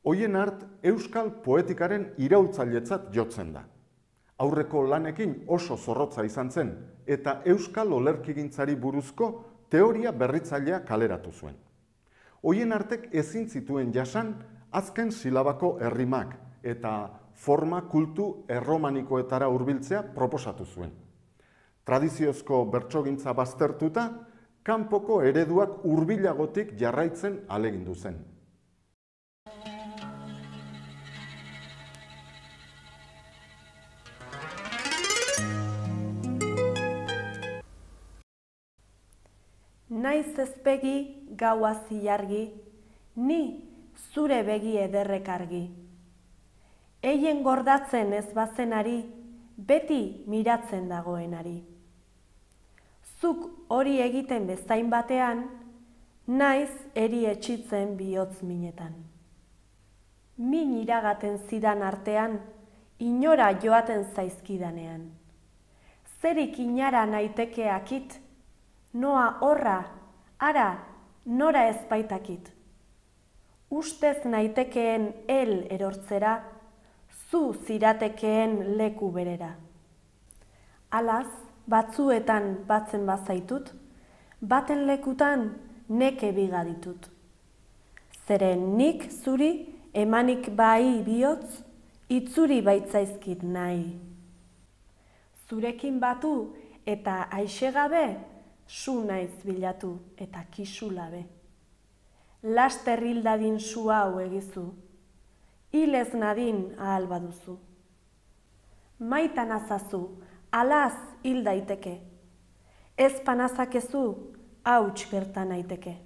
Oienart euskal poetikaren iraultzailetzat jotzen da. Aurreko lanekin oso zorrotza izan zen eta euskal olerkigintzari buruzko teoria berritzailea kaleratu zuen. Oienartek ezin zituen jasan azken silabako errimak eta forma kultu erromanikoetara hurbiltzea proposatu zuen. Tradiziozko bertsogintza baztertuta, kanpoko ereduak hurbilagotik jarraitzen ahalegindu zen. Naiz ezpegi gaua zilargi, ni zure begi ederrek argi. Eien gordatzen ez bazenari, beti miratzen dagoenari. Zuk hori egiten bezain batean, naiz eri etxitzen bihotz minetan. Min iragaten zidan artean, inora joaten zaizkidanean. Zerik inara naiteke akit, noa horra, ara, nora ezbaitakit. Ustez naitekeen el erortzera, zu ziratekeen leku berera. Alaz, batzuetan batzen bazaitut, baten lekutan neke bigaditut. Zeren nik zuri emanik bai bihotz, itzuri baitzaizkit nahi. Zurekin batu eta aixegabe, su naiz bilatu eta kisulabe. Laster hil dadin su hau egizu, hil ez nadin ahal baduzu. Maitan azazu, alaz hil daiteke, ez panazakezu, hauts gerta naiteke.